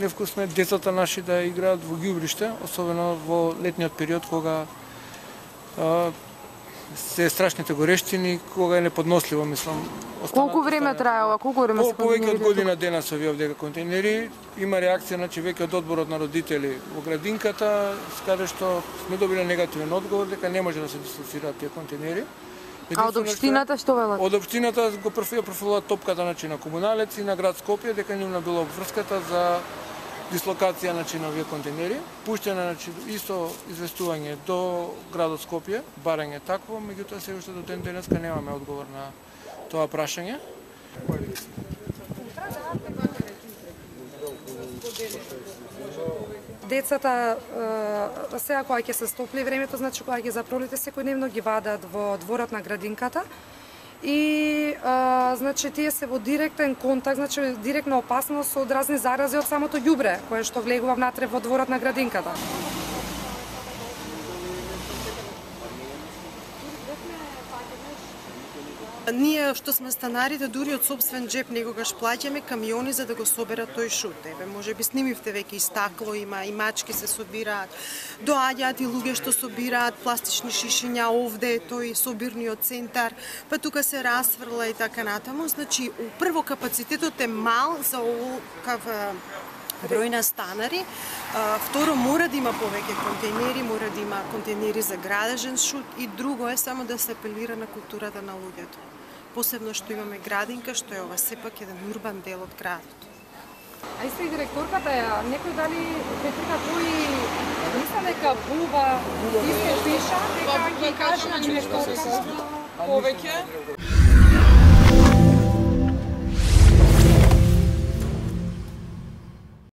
невкусно е децата наши да играат во ѓубриште, особено во летниот период кога се страшните горештини, кога е неподносливо, мислам. Колку време трае ова? Колку време се повеќе од година дена се овие овде контейнери. Има реакција, значи веќе од одборот на родители во градинката, каде што сме добили негативен одговор дека не може да се дислоцираат тие контейнери. А од општината што велат? Од општината го профилуваат топката на комуналец и на град Скопје дека нивна била обврската за дислокација на овие контейнери. Пуштено исто известување до градот Скопје, барање такво, меѓутоа се уште до ден денеска немаме одговор на тоа прашање. Децата сега кога ќе се стопли времето, значи кога ќе запролите секојдневно ги вадат во дворот на градинката и значи тие се во директен контакт, значи директна опасност од разни зарази од самото ѓубре кое што влегува внатре во дворот на градинката. Ние што сме станарите дури од сопствен джеп некогаш плаќаме камиони за да го соберат тој шут. Можеби снимивте веќе и стакло има, и мачки се собираат. Доаѓаат и луѓе што собираат пластични шишиња овде, тој собирниот центар, па тука се расфрла и така натаму. Значи, прво капацитетот е мал за оваков број на станари. Второ, мора да има повеќе контейнери, мора да има контейнери за градежен шут и друго е само да се апелира на културата на луѓето. Посебно што имаме градинка, што е ова сепак еден урбан дел од градот. А исто и директорката е, некој дали Петрика кој мисля дека Буба исто пиша дека ги кажа нешто повеќе?